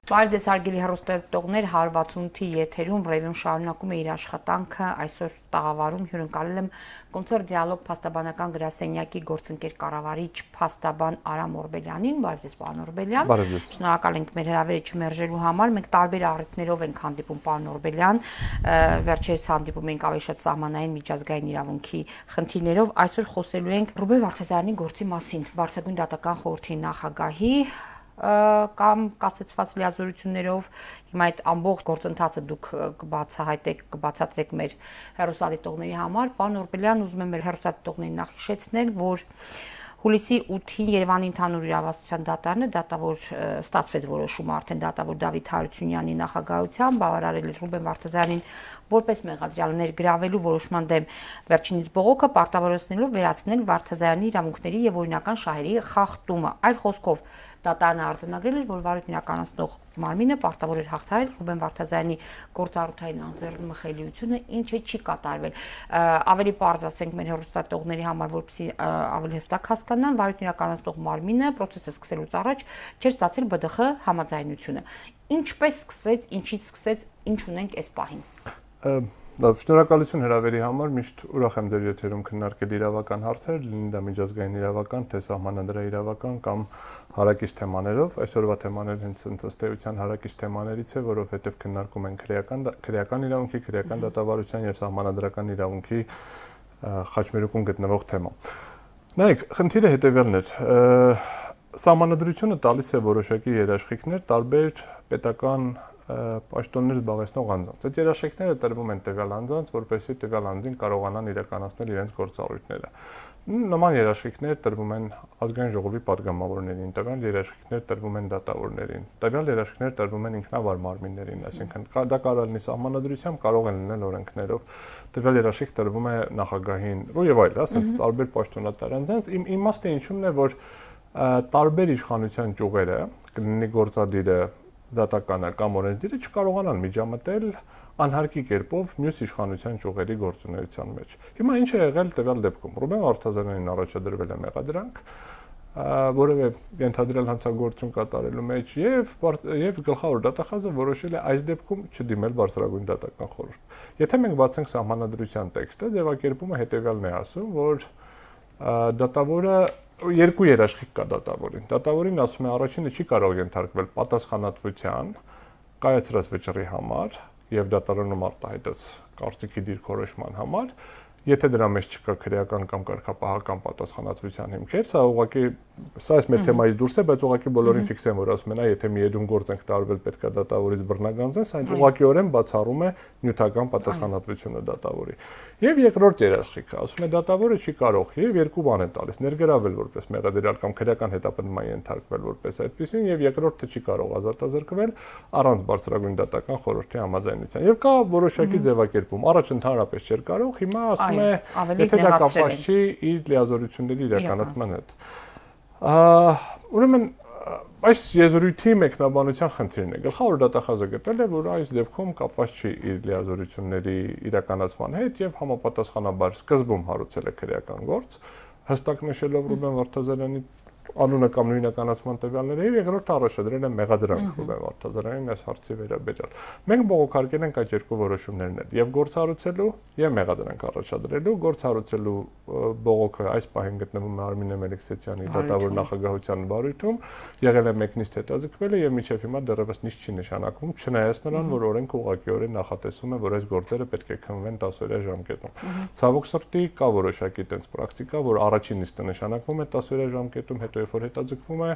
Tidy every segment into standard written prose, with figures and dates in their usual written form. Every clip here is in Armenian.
Բարև ձեզ հարգելի հեռուստադիտողներ, 168-ի եթերում ռևյուն շարունակում է իր աշխատանքը, այսօր տաղավարում հյուրընկալել եմ կոնցերտ դիալոգ փաստաբանական գրասենյակի գործընկեր կառավարիչ փաստաբան Արամ Օրբելյանին, բարև ձեզ պարոն Օրբելյան։ Բարև ձեզ։ Շնորհակալ ենք մեր հրավերը չմերժելու համար, մենք տարբեր առիթներով ենք հանդիպում պարոն Օրբելյան, վերջերս հանդիպում ենք ավելի շատ սահմանային միջազգային իրավունքի խնդիրներով, այսօր խոսելու ենք Ռուբեն Վարդազարյանի գործի մասին, Բարձրագույն դատական խորհրդի նախագահի կամ կասեցված լիազորություններով հիմա այդ ամբողջ գործընթացը դուք կբացատրեք մեր հեռուստադիտողների համար։ Պարոն Օրբելյան, ուզում եմ մեր հեռուստադիտողներին նախ հիշեցնել, որ հուլիսի 8-ին Երևանի ընդհանուր իրավասության դատարանը դատավոր ստացվեց որոշումը արդեն դատավոր Դավիթ Հարությունյանի նախագահությամբ բավարարել Ռուբեն Վարդազարյանին որպես մեղադրյալ ներգրավելու որոշման դեմ վերջինիս բողոքը պարտավորեցնելով վերացնել Վարդազարյանի իրավունքների եւ օրինական շահերի խախտումը։ Այլ խոսքով դատարանը արձանագրել էր, որ վարույթն իրականացնող մարմինը պարտավոր էր հաղթահարել Ռուբեն Վարդազարյանի գործառութային անձեռնմխելիությունը, ինչը չի կատարվել։ Ավելի պարզ ասենք մեր հեռուստադիտողների համար, որպեսզի ավելի հստակ հասկանան, վարույթն իրականացնող մարմինը process-ը սկսելուց առաջ չէր ստացել ԲԴԽ համաձայնությունը։ Ինչպես սկսեց, ինչից սկսեց, ինչ ունենք այս պահին։ Շնորհակալություն հրավերի համար, միշտ ուրախ եմ ձեր եթերում քննարկել իրավական հարցեր, լինի դա միջազգային իրավական, թե սահմանադրական իրավական կամ հարակից թեմաներով։ Այսօրվա թեմաները հենց ըստ էության հարակից թեմաներից է, որովհետև քննարկում են քրեական իրավունքի, քրեական դատավարության եւ սահմանադրական իրավունքի խաչմերուկում գտնվող թեմա։ Նայեք, խնդիրը հետեւյալն է։ Սահմանադրությունը տալիս է որոշակի երաշխիքներ տարբեր պետական պաշտոններ զբաղեցնող անձանց։ Այդ երաշխիքները տրվում են տվյալ անձանց, որպեսզի տվյալ անձին կարողանան իրականացնել իրենց գործառույթները։ Նման երաշխիքներ տրվում են ազգային ժողովի падգամավորներին, տվյալ երաշխիքներ տրվում են դատավորներին, տվյալ երաշխիքներ տրվում են ինքնավար մարմիններին, այսինքն դա կարող լինի սահմանադրությամբ, կարող են լինել օրենքներով, տվյալ երաշխիք տրվում է նախագահին եւ այլ, ասենց տարբեր պաշտոնատար անձանց։ Իմ իմաստը ինչումն է, որ տարբեր իշխանության ճյուղերը, կլինի գործադիրը, դատականը կամ օրենսդիրը չկարողանան միջամտել անհարկի կերպով մյուս իշխանության ճյուղերի գործունեության մեջ։ Հիմա ինչ է եղել տվյալ դեպքում։ Ռուբեն Վարդազարյանին առաջադրվել է մեղադրանք, որևէ ենթադրյալ հանցագործություն կատարելու մեջ եւ գլխավոր դատախազը որոշել է այս դեպքում չդիմել Բարձրագույն դատական խորհուրդ։ Եթե մենք բացենք սահմանադրության տեքստը, ձևակերպումը հետեւյալն է ասում, որ դատավորը երկու երաշխիք կա դատավորին։ Դատավորին ասում է առաջինը չի կարող ենթարկվել պատասխանատվության կայացրած վճռի համար եւ դատարանում արտահայտած կարծիքի դիրքորոշման համար, եթե դրա մեջ չկա քրեական կամ կարգապահական պատասխանատվության հիմքեր, սա այս մեր թեմայից դուրս է, բայց ուղղակի բոլորին ֆիքսեն, որ ասում են, եթե մի եդուն գործ ենք տարվել, պետքա դատավորից բռնագանձեն, սա ուղղակիորեն բացառում է նյութական պատասխանատվությունը դատավորի։ Եվ երկրորդ երաշխիքը, ասում է դատավորը չի կարող եւ երկու բան են տալիս, ներգրավել որպես մեղադրյալ կամ քրեական հետապնդման ենթարկվել որպես այդպեսին եւ երկրորդը չի կարող ազատազրկվել առանց Բարձրագույն դատական խորհրդի համաձայնության։ Եվ կա որոշակի ձևակերպում, առաջ ընդհանրապես չէր կարող, հիմա ասում է, եթե դա կապված չի իր լիազորությունների իրականացման հետ։ Ուրեմն այս եզրույթի մեկնաբանության խնդիրն է։ Գլխավոր դատախազը գտել է, որ այս դեպքում կապված չի իր լիազորությունների իրականացման հետ եւ համապատասխանաբար սկզբում հարուցել է քրեական գործ, հստակ նշելով Ռուբեն Վարդազարյանի անունը կամ նույնականացման տվյալները եւ երկրորդը առաջադրել է մեղադրանք Ռուբեն Վարդազարյանին այս հարցի վերաբերյալ։ Մենք բողոքարկել ենք այդ երկու որոշումներն էլ եւ գործառուցելու եւ մեղադրանք առաջադրելու, գործառուցելու բողոքը այս պահին գտնվում է Արմինե Մելիքսեթյանի դատավոր նախագահության վարույթում, եղել է մեկնիստ հետաձգվել եւ մինչեւ հիմա դեռևս նիշ չի նշանակվում, չնայած նրան, որ օրենքը ուղղակիորեն նախատեսում է, որ այս գործերը պետք է քննվեն 10-օրյա ժամկետում։ Ցավոք սրտի կա որոշակի տենց պրակտիկա, որ առաջին նիստը նշանակվում է 10-օրյա ժամկետում, հետո երբ որ հետաձգվում է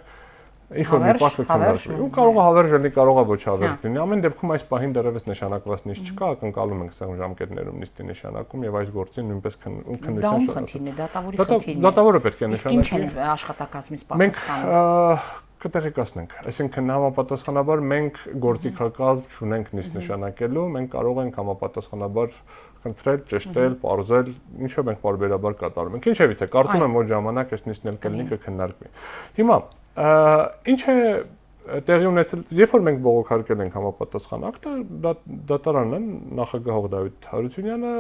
ինչ որ մի պահ կքննարկվի։ Ու կարող է հավերժ լինի, կարող է ոչ հավերժ լինի։ Ամեն դեպքում այս պահին դեռևս նշանակված նիստ չկա, ակնկալում ենք սա ժամկետներում նիստի նշանակում եւ այս գործին նույնպես քննության շրջանում։ Դատավորի խնդիրն է։ Դատավորը պետք է նշանակի։ Ինչ են աշխատակազմից պատասխանում։ Մենք կտեղեկացնենք, այսինքն համապատասխանաբար մենք գործիքակազմ չունենք նիստ նշանակելու, մենք կարող ենք համապատասխանաբար խնդրել, ճշտել, պարզել, ինչով մենք բարբերաբար կատարում ենք։ Ինչևից է, կարծում եմ, որ ժամանակ այս նիստն էլ կլինի կքննարկվի։ Հիմա, ինչ է տեղի ունեցել, երբ որ մենք բողոքարկել ենք համապատասխան ակտը, դատարանն նախագահող Դավիթ Հարությունյանը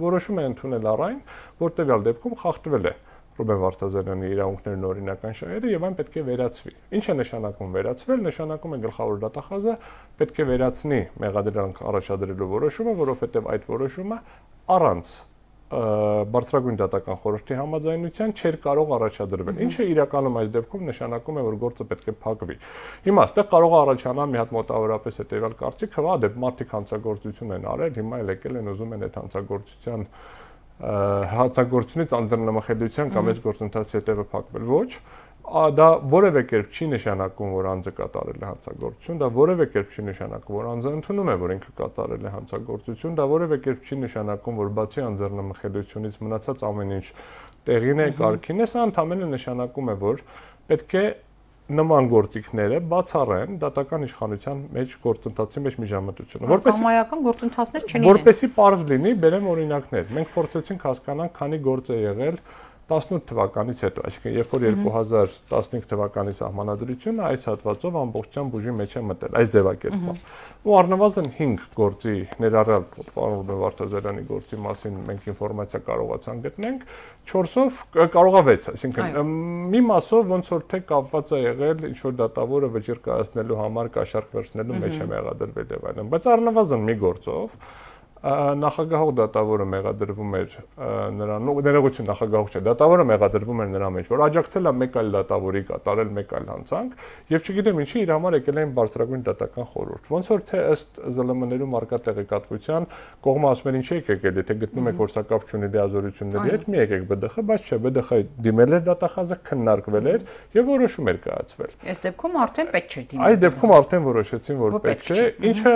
որոշում է ընդունել առ այն, որ տվյալ դեպքում խախտվել է Ռուբեն Վարդազարյանի իրավունքներն օրինական շահերը եւ այն պետք է վերացվի։ Ինչ է նշանակում վերացվել, նշանակում է գլխավոր դատախազը պետք է վերացնի մեղադրանք առաջադրելու որոշումը, որովհետեւ այդ որոշումը առանց բարձրագույն դատական խորհրդի համաձայնության չէր կարող առաջադրվել։ Ինչը իրականում այս դեպքում նշանակում է, որ գործը պետք է փակվի։ Հիմա այստեղ կարող է առաջանալ մի հատ մոտավորապես հետեւյալ կարծիք, հա, դե մարդիկ հանցագործություն են արել, հիմա էլ եկել են ուզում են այդ հանցագործությունից անձնամխելիության կամ այս գործընթացի հետևը փակվել։ Ոչ, դա որևէ կերպ չի նշանակում, որ անձը կատարել է հանցագործություն, դա որևէ կերպ չի նշանակում, որ անձը ընդունում է, որ ինքը կատարել է հանցագործություն, դա որևէ կերպ չի նշանակում, որ բացի անձնամխելիությունից մնացած ամեն ինչ տեղին է, կարգին է, սա ընդհանրապես նշանակում է, որ պետք է նման գործիքները բացառեն դատական իշխանության մեջ գործընթացի մեջ միջամտությունը։ Համայական գործընթացներ չեն։ Որպեսզի պարզ լինի, բերեմ օրինակներ։ Մենք փորձեցինք հասկանալ, քանի գործ է եղել 18 թվականից հետո, այսինքն երբ որ 2015 թվականի սահմանադրությունը այս հատվածով ամբողջությամբ ուժի մեջ է մտել, այս ձևակերպով։ Ու առնվազն 5 գործի ներառյալ պարոն Վարդազարյանի գործի մասին մենք ինֆորմացիա կարողացանք գտնենք, 4-ով կարողա 6, այսինքն մի մասով ոնց որ թե կապված է եղել ինչ որ դատավորը վճիռ կայացնելու համար կաշառք վերցնելու մեջ է մեղադրվել եւ այլն, բայց առնվազն մի գործով նախագահող դատավորը մեղադրվում էր նրան, ներողություն նախագահող չէ, դատավորը մեղադրվում էր նրա մեջ, որ աջակցել է մեկ այլ դատավորի կատարել մեկ այլ հանցանք, եւ չգիտեմ ինչի իր համար եկել են բարձրագույն դատական խորհուրդ։ Ոնց որ թե ըստ ԶԼՄ-ներում արկա տեղեկատվության կողմը ասում են ինչ եք եկել, եթե գտնում եք գործակապ չունի լիազորությունների հետ, մի եկեք ԲԴԽ, բայց չէ, ԲԴԽ-ը դիմել էր դատախազը, քննարկվել էր եւ որոշում էր կայացվել։ Այս դեպքում արդեն պետք չէ դիմել։ Այս դեպքում արդեն որոշեցին, որ պետք է, ինչը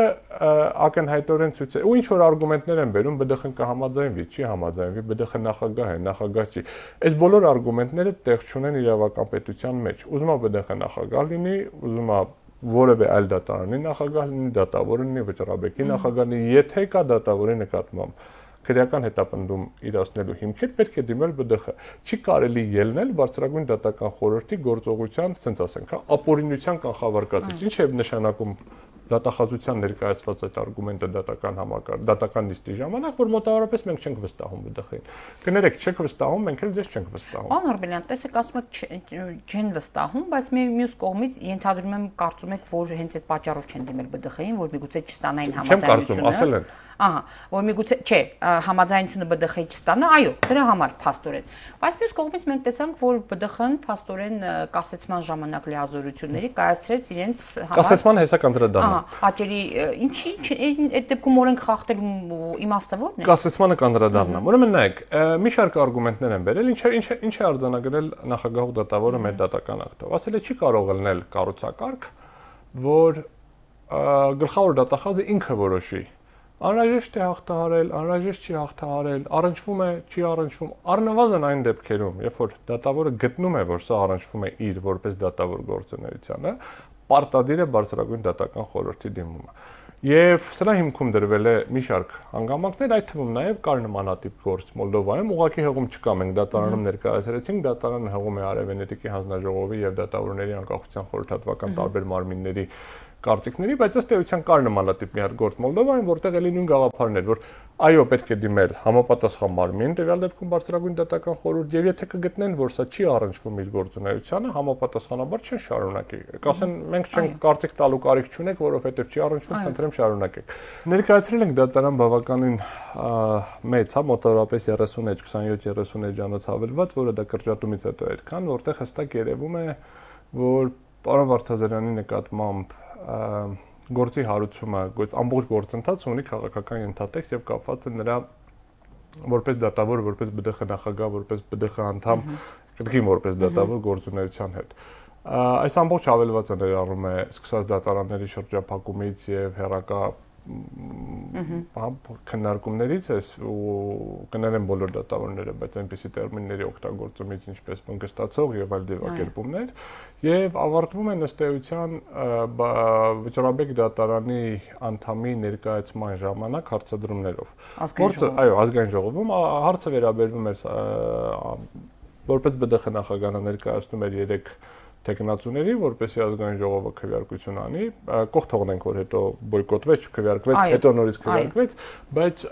ակնհայտորեն ցույց է, ու ինչ որ արգումենտներ են բերում, ԲԴԽ-ն կհամաձայնվի, չի համաձայնվի, ԲԴԽ նախագահ է, նախագահ չի։ Այս բոլոր արգումենտները տեղ չունեն իրավական պետության մեջ։ Ուզում է ԲԴԽ նախագահ լինի, ուզում է որևէ այլ դատարանի նախագահ լինի, դատավորը լինի, վճռաբեկի նախագահ լինի, եթե կա դատավորի նկատմամբ քրեական հետապնդում իրացնելու հիմքեր, պետք է դիմել ԲԴԽ։ Չի կարելի ելնել բարձրագույն դատական խորհրդի գործողության, ասենք ասենք, ապօրինության կանխավարկածից։ Ինչ է նշանակում դատախազության ներկայացված այդ արգումենտը դատական համակարգ, դատական նիստի ժամանակ, որ մոտավորապես մենք չենք վստահում ԲԴԽ-ին։ Կներեք, չեք վստահում, մենք էլ ձեզ չենք վստահում։ Պարոն Օրբելյան, տեսեք, ասում եք չեն վստահում, բայց մյուս կողմից ենթադրում եմ, կարծում եք, որ հենց այդ պատճառով չեն դիմել ԲԴԽ-ին, որ միգուցե չստանային համաձայնությունը։ Չեմ կարծում, ասել են։ Ահա, որ միգուցե, չէ, համաձայնությունը ԲԴԽ-ի չստանա, այո, դրա համար փաստորեն։ Բայց մյուս կողմից մենք տեսանք, որ ԲԴԽ-ն փաստորեն կասեցման ժամանակ լիազորությունների կայացրեց իրենց համար։ Կասեցման հեսա կանդրադառնա։ Հաճելի, ինչի այդ դեպքում օրենք խախտելու իմաստը ո՞րն է։ Կասեցմանը կանդրադառնա։ Ուրեմն նայեք, մի շարք արգումենտներ են բերել, ինչ է արձանագրել նախագահող դատավորը մեր դատական ակտով։ Ասել է չի կարող ելնել կառուցակարգ, որ գլխավոր դատախազը ինքը որոշի։ Անհրաժեշտ է հաղթահարել, անհրաժեշտ չի հաղթահարել, առնչվում է, չի առնչվում, առնվազն այն դեպքերում, երբ որ դատավորը գտնում է, որ սա առնչվում է իր որպես դատավոր գործունեությանը, պարտադիր է բարձրագույն դատական խորհրդի դիմումը։ Եվ սրա հիմքում դրվել է մի շարք հանգամանքներ, այդ թվում նաև կար նմանատիպ գործ Մոլդովայում, ուղղակի հեղում չկա, մենք դատարանում ներկայացրեցինք, դատարանը հեղում է Արևենետիկի հանձնաժողովի եւ դատավորների անկախության խորհրդատվական տարբեր մարմինների կարծիքների, բայց ըստ էության կար նմանատիպ մի հատ գործ Մոլդովայում, որտեղ էլի նույն գաղափարն էր, որ այո, պետք է դիմել համապատասխան մարմին, տվյալ դեպքում բարձրագույն դատական խորհուրդ, եւ եթե կգտնեն, որ սա չի առնչվում իր գործունեությանը, համապատասխանաբար չեն շարունակի։ Կասեն, մենք չենք կարծիք տալու կարիք չունենք, որովհետեւ չի առնչվում, խնդրեմ շարունակեք։ Ներկայացրել ենք դատարան բավականին մեծ, հա, մոտավորապես 30-27-30 էջանոց հավելված, որը դա կրճատումից հետո էր, քան որտեղ հստակ երևում է, որ պարոն Վարդազարյանի նկատմամբ գործի հարուցումը ամբողջ գործընթացը ունի քաղաքական ենթատեքստ եւ կապված է նրա որպես դատավոր, որպես ԲԴԽ նախագահ, որպես ԲԴԽ անդամ, կրկին որպես դատավոր գործունեության հետ։ Այս ամբողջ հավելվածը ներառում է սկսած դատարանների շրջափակումից եւ հերակա քննարկումներից էս ու կներեն բոլոր դատավորները, բայց այնպիսի տերմինների օգտագործումից ինչպես վնգստացող եւ այլ ձևակերպումներ եւ ավարտվում են ըստ էության վճռաբեկ դատարանի անդամի ներկայացման ժամանակ հարցադրումներով։ Այո, ազգային ժողովում հարցը վերաբերվում է որպես ԲԴԽ նախագահը ներկայացնում էր 3 տեխնացուների, որպեսզի ազգային ժողովը քվեարկություն անի, կողք թողնենք, որ հետո բոյկոտվեց, չքվեարկվեց, հետո նորից քվեարկվեց, բայց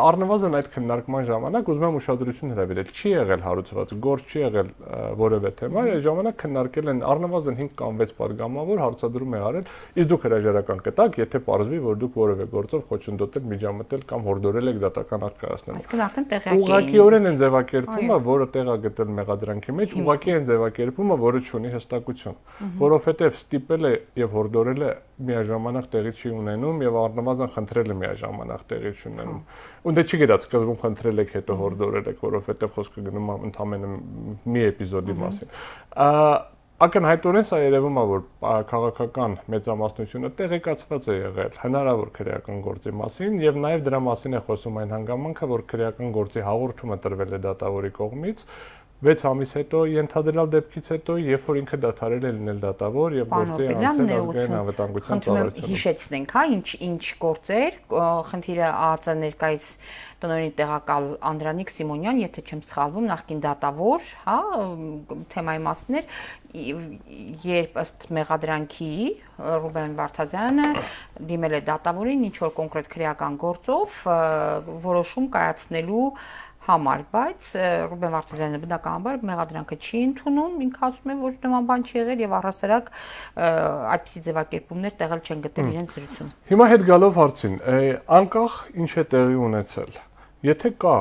առնվազն այդ քննարկման ժամանակ ուզում եմ ուշադրություն հրավիրել, չի եղել հարուցված, գործ չի եղել որևէ թեմա, այդ ժամանակ քննարկել են առնվազն 5 կամ 6 падգամավոր հարցադրում է արել, իսկ դուք հրաժարական կտաք, եթե պարզվի, որ դուք որևէ գործով խոչընդոտել, միջամտել կամ հորդորել եք դատական արք կայացնել։ Այսինքն արդեն տեղյակ ուղղակիորեն են ձևակերպումը, որը տեղ է գտել մեղադրանքի մեջ, ուղղակի են ձևակերպումը, որը չունի հստակություն, որովհետև ստիպել է եւ հորդորել է միաժամանակ տեղի չի ունենում եւ առնվազն խնդրել է միաժամանակ տեղի չի ունենում։ Ու դե չի գիտած սկզբում խնդրել եք, հետո հորդորել եք, որովհետև խոսքը գնում է ընդամենը մի էպիզոդի մասին։ Ակնհայտորեն սա երևում է, որ քաղաքական մեծամասնությունը տեղեկացված է եղել հնարավոր քրեական գործի մասին եւ նաեւ դրա մասին է խոսում այն հանգամանքը, որ քրեական գործի հաղորդումը տրվել է դատավորի կողմից 6 ամիս հետո ենթադրյալ դեպքից հետո, երբ որ ինքը դադարել է լինել դատավոր եւ գործի անցել ազգային անվտանգության ծառայությունը։ Հիշեցնենք, հա, ինչ գործեր, խնդիրը ԱԱԾ ներկայիս տնօրենի տեղակալ Անդրանիկ Սիմոնյան, եթե չեմ սխալվում, նախկին դատավոր, հա, թեմայի մասներ, երբ ըստ մեղադրանքի Ռուբեն Վարդազյանը դիմել է դատավորին ինչ որ կոնկրետ քրեական գործով որոշում կայացնելու համար, բայց Ռուբեն Վարդազյանը բնականաբար մեղադրանքը չի ընդունում, ինքը ասում է, որ նման բան չի եղել եւ առհասարակ այդպիսի ձևակերպումներ տեղել չեն գտել իրենց զրույցում։ Հիմա հետ գալով հարցին, անկախ ինչ է տեղի ունեցել, եթե կա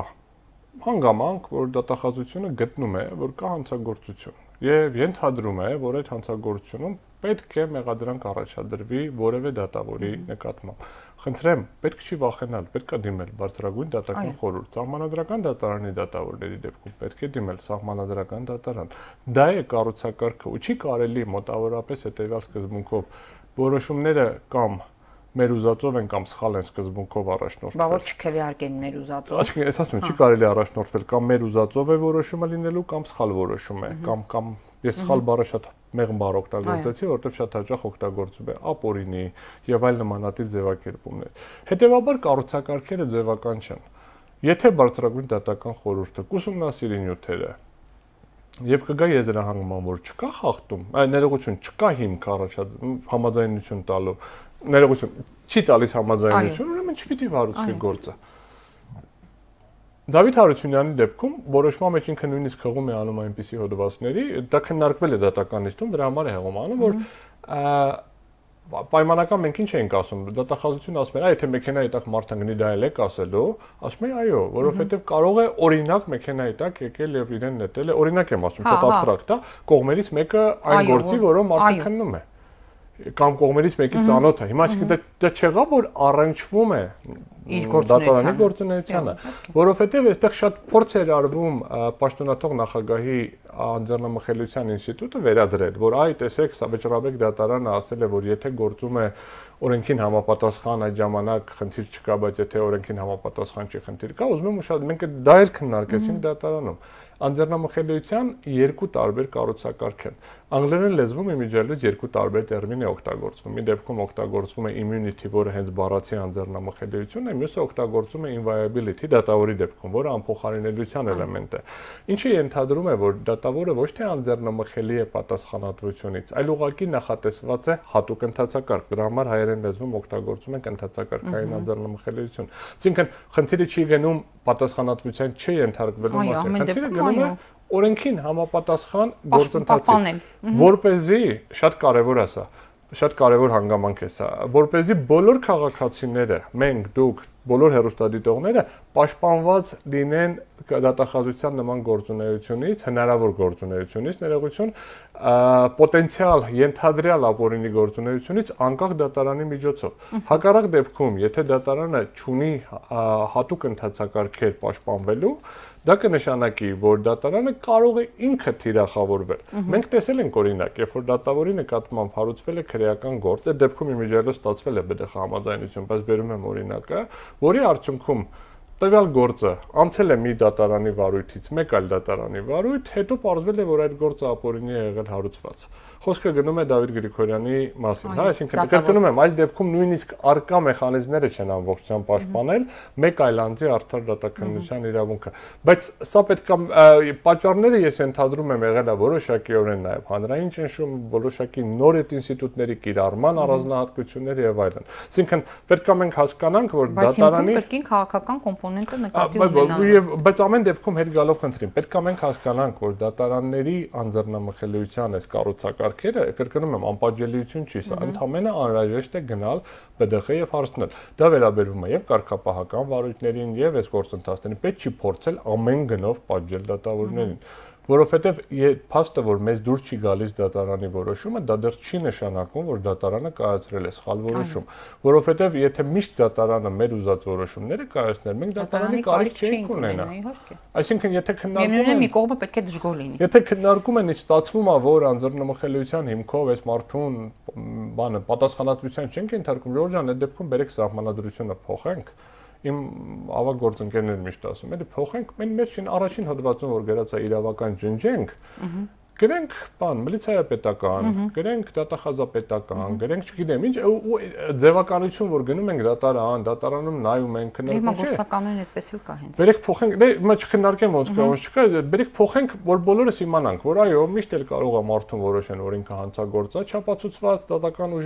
հանգամանք, որ դատախազությունը գտնում է, որ կա հանցագործություն եւ ենթադրում է, որ այդ հանցագործությունում պետք է մեղադրանք առաջադրվի որևէ դատավորի նկատմամբ։ Խնդրեմ, պետք չի վախենալ, պետք է դիմել բարձրագույն դատական խորհուրդ, սահմանադրական դատարանի դատավորների դեպքում պետք է դիմել սահմանադրական դատարան։ Դա է կառուցակարգը, ու չի կարելի մոտավորապես հետեւյալ սկզբունքով որոշումները կամ մեր ուզածով են կամ սխալ են սկզբունքով առաջնորդվել։ Բա որ չքվեարկեն մեր ուզածով։ Այսինքն, ես ասում եմ, չի կարելի առաջնորդվել կամ մեր ուզածով է որոշումը լինելու կամ սխալ որոշում է, կամ ես սխալ բառը շատ մեղմ բառ օգտագործեցի, որովհետև շատ հաճախ օգտագործում է ապօրինի եւ այլ նմանատիպ ձևակերպումներ։ Հետևաբար կառուցակարգերը ձևական չեն։ Եթե բարձրագույն դատական խորհուրդը կուսումնասիրի նյութերը եւ կգա եզրահանգման, որ չկա խախտում, ներողություն, չկա հիմք համաձայնություն տալու, ներողություն, չի տալիս համաձայնություն, ուրեմն չպիտի վարուցվի գործը։ Դավիթ Հարությունյանի դեպքում որոշման մեջ ինքը նույնիսկ հղում է անում այնպիսի հոդվածների, դա քննարկվել է դատական նիստում, դրա համար է հղում անում, որ պայմանական մենք ինչ ենք ասում, դատախազությունը ասում է, եթե մեքենայի տակ մարդը գնի դա էլ եք ասելու, ասում է այո, որովհետև կարող է օրինակ մեքենայի տակ եկել եւ իրեն նետել է, օրինակ եմ ասում, շատ աբստրակտ է, կողմերից մեկը այն գործի, որով մարդը քննում է կամ կողմերից մեկի ծանոթ է։ Հիմա այսինքն դա չեղա, որ առնչվում է դատարանի գործունեությանը, որովհետև այստեղ շատ փորձ էր արվում պաշտոնաթող նախագահի անձեռնամխելիության ինստիտուտը վերադրել, որ այ տեսեք, Վճռաբեկ դատարանը ասել է, որ եթե գործում է օրենքին համապատասխան այդ ժամանակ խնդիր չկա, բայց եթե օրենքին համապատասխան չի խնդիր կա, ուզում եմ ուշադրել, մենք դա էլ քննարկեցինք դատարանում։ Անձեռնամխելիության երկու տարբեր կառուցակարգ են։ Անգլերեն լեզվում իմիջիալից երկու տարբեր տերմին է օգտագործվում։ Մի դեպքում օգտագործվում է immunity, որը հենց բառացի անձեռնամխելիությունն է, մյուսը օգտագործվում է inviolability, դատավորի դեպքում, որը անփոխարինելիության էլեմենտ է։ Ինչը ենթադրում է, որ դատավորը ոչ թե անձեռնամխելի է պատասխանատվությունից, այլ ուղղակի նախատեսված է հատուկ ընթացակարգ։ Դրա համար հայերեն լեզվում օգտագործում ենք ընթացակարգային անձեռնամխելիություն։ Այսինքն, խնդիրը չի գնում պատասխանատվության չենթարկվելու մասին, խնդիրը գնում է օրենքին համապատասխան գործընթացի, որպեսզի շատ կարևոր է սա, շատ կարևոր հանգամանք է սա, որպեսզի բոլոր քաղաքացիները, մենք, դուք, բոլոր հեռուստադիտողները պաշտպանված լինեն դատախազության նման գործունեությունից, հնարավոր գործունեությունից, ներողություն, պոտենցիալ ենթադրյալ ապօրինի գործունեությունից անկախ դատարանի միջոցով։ Հակառակ դեպքում, եթե դատարանը չունի հատուկ ընթացակարգեր պաշտպանվելու, դա կնշանակի, որ դատարանը կարող է ինքը թիրախավորվել։ Մենք տեսել ենք օրինակ, երբ որ դատավորի նկատմամբ հարուցվել է քրեական գործ, այդ դեպքում իմիջիալից ստացվել է ԲԴԽ համաձայնություն, բայց բերում եմ օրինակը, որի արդյունքում տվյալ գործը անցել է մի դատարանի վարույթից մեկ այլ դատարանի վարույթ, հետո պարզվել է, որ այդ գործը ապօրինի է եղել հարուցված։ Խոսքը գնում է Դավիթ Գրիգորյանի մասին, հա, այսինքն կրկնում եմ, այս դեպքում նույնիսկ արկա մեխանիզմները չեն ամբողջությամբ պաշտպանել մեկ այլ անձի արդար դատականության իրավունքը, բայց սա պետք է պատճառները ես ընդհանրում եմ եղել է որոշակիորեն նաև հանրային ճնշում, որոշակի նոր ինստիտուտների կիրառման առանձնահատկություններ եւ այլն։ Այսինքն պետք է մենք հասկանանք, որ դատարանի կրկին քաղաքական կոմպոնենտը նկատի ունենալու բայց ամեն դեպքում հետ գալով խնդրին, պետք է մենք հասկանանք, որ դատարանների անձեռնամխելիության այս կառուցակարգերը, կրկնում եմ, անպատժելիություն չի, սա ընդհանրապես անհրաժեշտ է գնալ ԲԴԽ եւ հարցնել։ Դա վերաբերվում է եւ կարգապահական վարույթներին եւ այս գործընթացներին, պետք չի փորձել ամեն գնով պատժել դատավորներին, որովհետեւ փաստը, որ մեզ դուրս չի գալիս դատարանի որոշումը, դա դեռ չի նշանակում, որ դատարանը կայացրել է սխալ որոշում, որովհետեւ եթե միշտ դատարանը մեր ուզած որոշումները կայացներ, մենք դատարանի կարիք չենք ունենա։ Այսինքն, եթե քննարկում են մի կողմը պետք է դժգոհ լինի։ Եթե քննարկում են, ստացվում է, որ անձեռնմխելիության հիմքով այս մարդուն բանը պատասխանատվության չենք ենթարկում, Ժորժ ջան, այդ դեպքում բերեք սահմանադրությունը փոխենք։ Իմ ավագ գործընկերներն միշտ ասում են, փոխենք, մենք առաջին հոդվածում որ գրած է իրավական ջնջենք, գրենք բան, միլիցիայապետական, գրենք դատախազապետական, գրենք չգիտեմ ինչ, ձևականություն որ գնում ենք դատարանում նայում ենք, քննարկում չէ։ Գործականույն այդպես էլ կա հենց։ Բերեք փոխենք, դե մա չքննարկեմ ոնց կա, ոնց չկա, բերեք փոխենք, որ բոլորս իմանանք, որ այո, միշտ էլ կարող է մարդուն որոշեն, որ ինքը հանցագործ է, չափածուցված դատական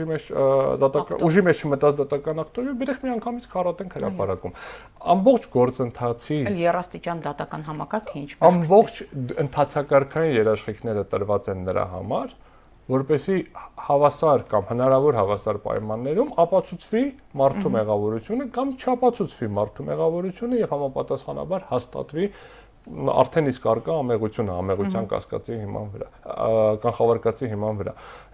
ուժի մեջ մտած դատական ակտորի, բերեք մի անգամից քարատենք հրապարակում։ Ամբողջ գործընթացի երաստիճան դատական համակարգը ինչպես ամբողջ ընթացակարգային երաշխիքները տրված են նրա համար, որպեսզի հավասար կամ հնարավոր հավասար պայմաններում ապացուցվի մարդու մեղավորությունը կամ չապացուցվի մարդու մեղավորությունը եւ համապատասխանաբար հաստատվի արդեն իսկ արկա ամեղությունը, ամեղության կասկածի հիման վրա, կանխավարկածի հիման վրա։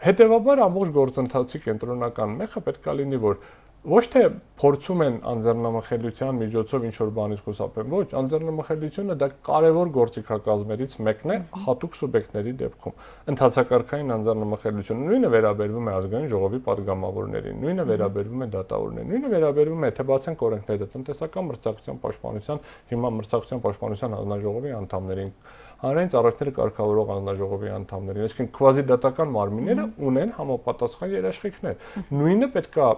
Հետևաբար ամբողջ գործընթացի կենտրոնական մեխը պետք է լինի, որ ոչ թե փորձում են անձեռնամխելիության միջոցով ինչ որ բանից խուսափեն, ոչ, անձեռնամխելիությունը դա կարևոր գործիքակազմերից մեկն է հատուկ սուբյեկտների դեպքում։ Ընթացակարգային անձեռնամխելիությունը նույնը վերաբերվում է ազգային ժողովի падգամավորներին, նույնը վերաբերվում է դատավորներին, նույնը վերաբերվում է, թե բացենք օրենքները տնտեսական մրցակցության պաշտպանության, հիմա մրցակցության պաշտպանության հանձնաժողովի անդամներին, հանրային ծառայությունների կարգավորող հանձնաժողովի անդամներին, այսինքն քվազիդատական մարմինները ունեն համապատասխան երաշխիքներ։ Նույնը պետքա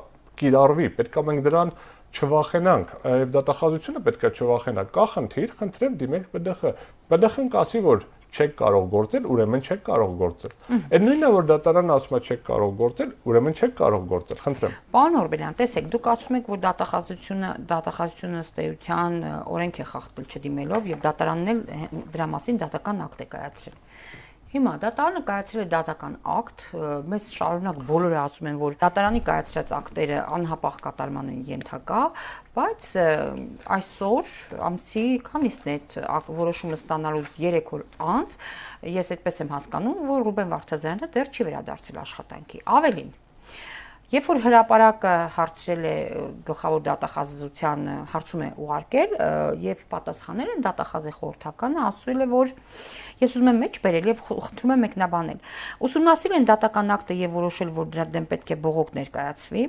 կիրառվի, պետքա մենք դրան չվախենանք, եւ դատախազությունը պետքա չվախենա։ Կա խնդիր, խնդրեմ դիմեք ԲԴԽ։ ԲԴԽ-ն կասի, որ չեք կարող գործել, ուրեմն չեք կարող գործել։ Այդ նույնն է, որ դատարանը ասում է չեք կարող գործել, ուրեմն չեք կարող գործել։ Խնդրեմ։ Պարոն Օրբելյան, տեսեք, դուք ասում եք, որ դատախազությունը ըստ էության օրենք է խախտել չդիմելով եւ դատարանն էլ դրա մասին դատական ակտ է կայացրել։ Հիմա դատարանը կայացրել է դատական ակտ, մեզ շարունակ բոլորը ասում են, որ դատարանի կայացրած ակտերը անհապաղ կատարման են ենթակա, բայց այսօր ամսի քանիսն է այդ որոշումը ստանալուց 3 օր անց, ես այդպես եմ հասկանում, որ Ռուբեն Վարդազյանը դեռ չի վերադարձել աշխատանքի։ Ավելին, երբ որ հրապարակը հարցրել է գլխավոր դատախազության հարցում է ուղարկել եւ պատասխանել են դատախազի խորհրդականը ասել է, որ ես ուզում եմ մեջ բերել եւ խնդրում եմ մեկնաբանել։ Ուսումնասիրել են դատական ակտը եւ որոշել, որ դրա դեմ պետք է բողոք ներկայացվի։